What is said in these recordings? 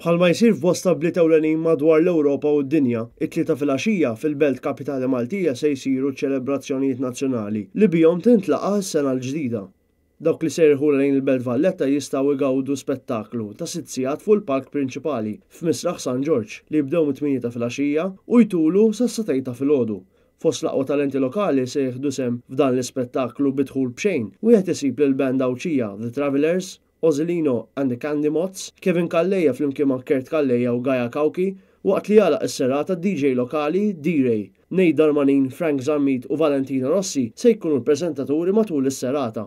Bħalma jsir f'bosta bliet ewlenin madwar l-Ewropa u d-dinja, it-Tlieta filgħaxija fil-belt kapitali Maltija se jsiru ċ-ċelebrazzjonijiet nazzjonali li bihom tintlaqa' s-sena l-ġdida. Dawk li se jirħulha lejn il-Belt Valletta jistgħu jgawdu spettaklu ta' sitt sigħat fuq il-palk prinċipali f'Misraħ San Ġorġ li jibdew mit-tmienja ta' filgħaxija u jtulu sas-sagħtejn ta' filgħodu. Fost l-aqwa talenti lokali se jieħdu sehem f'dan l-ispettaklu bi dħul b'xejn wieħed isib lill-band Għawdxija The Travellers, Ozilino and the Candy Moths, Kevin Calleja flimkien ma' Kurt Calleja u Gaia Cauchi, waqt li jagħlaq is-serata d-DJ lokali D-Ray. Nate Darmanin, Frank Zammit u Valentina Rossi se jkunu l-preżentaturi matul is-serata.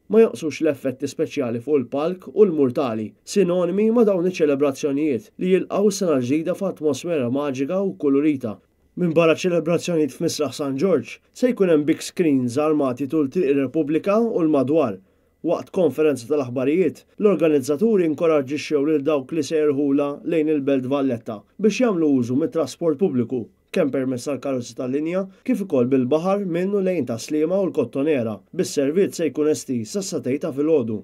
Ma jonqsux l-effetti speċjali fuq il-palk u l-murtali, sinonimi ma' dawn iċ-ċelebrazzjonijiet li jilqgħu s-sena l-ġdida f'atmosfera maġika u kkulurita. Minbarra ċ-ċelebrazzjonijiet f'Misraħ San Ġorġ, se jkun hemm big screens armati tul Triq ir-Repubblika u l-madwar. Waqt konferenza tal-aħbarijiet, l-organizzaturi inkoraġġixxew lil dawk li se jirħulha lejn il-Belt Valletta biex jagħmlu użu mit-trasport pubbliku, kemm permezz tal-karozzi tal-linja kif ukoll bil-baħar minn u lejn Tas-Sliema u l-Kottonera, bis-servizz se jkun estiż sas-sagħtejn ta' filgħodu.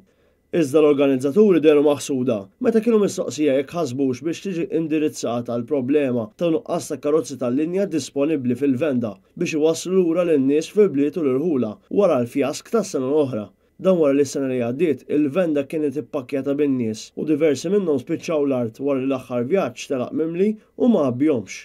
Iżda l-organizzaturi dehru maħsuda meta kienu mistoqsija jekk ħasbux biex tiġi indirizzata l-problema ta' nuqqas ta' karozzi tal-linja disponibbli fil-venda biex iwasslu lura lin-nies fil-bliet u l-irħula wara l-fjask tas-sena l-oħra. Dan wara li s-sena li għaddiet, il-venda kienet ippakkjata bin-nies u diversi minnhom spiċċaw l-art wara li l-aħħar vjaġġ telaq mimli u ma għabbihomx.